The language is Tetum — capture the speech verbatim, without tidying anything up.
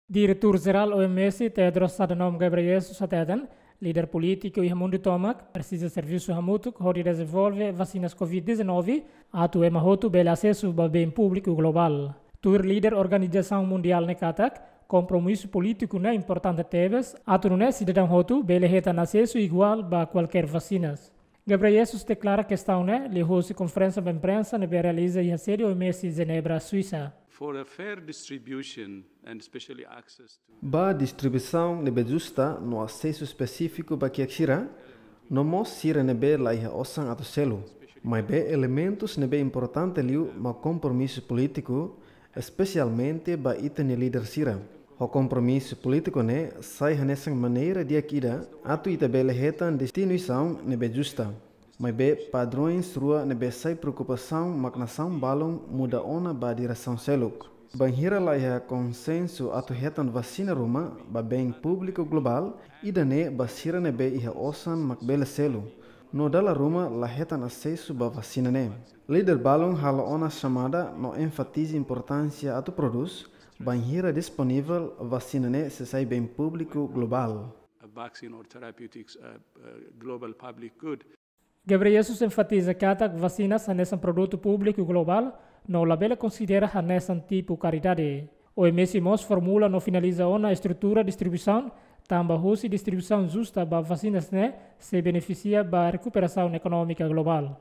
Diretór Jerál O M S, Tedros Adhanom Ghebreyesus, hateten líder polítiku iha mundu tomak presiza servisu hamutuk hodi dezenvolve vasinas covid dezanove atu ema hotu bele asesu ba been públiku globál. Tuir líder organizasaun mundiál ne'e katak, kompromisu polítiku ne'e importante tebes atu nune'e sidadaun hotu bele hetan asesu iguál ba kualkér vasinas. Ghebreyesus deklara kestaun ne'e liuhosi konferénsia ba imprensa ne'ebé realiza iha sede O M S, Jenebra, Suisa. For a fair distribution and especially access to Ba distribuisaun ne'ebé justa no asesu espesífiku ba kiak sira, no mós sira ne'ebé la iha osan atu selu. Maibé elementus ne'ebé importante liu mak kompromisu polítiku, espesialmente ba ita-nia líder sira. Ho kompromisu polítiku ne'e sai hanesan maneira di'ak ida atu ita bele hetan destinasaun ne'ebé justa. Maibé padrões rua ne'ebé sai preokupasaun mak nasaun balun muda ona ba diresaun seluk. Bainhira la iha konsensu atu hetan vasina ruma ba been públiku globál, ida-ne'e ba sira ne'ebé iha osan mak bele selu. No dala ruma la hetan asesu ba vasina ne'e. Líder balun halo ona xamada no enfatiza importánsia atu prodús, bainhira disponivel vasina ne'e sei sai been públiku globál. A vaccine or therapeutics, uh, uh, global public good. Ghebreyesus enfatiza katak vasinas hanesan produtu públiku globál no labele konsidera hanesan tipu karidade. O M S mós formula no finaliza ona estrutura distribuisaun, tanba hosi distribuisaun justa ba vasinas ne'e sei benefisia ba rekuperasaun ekonómika globál.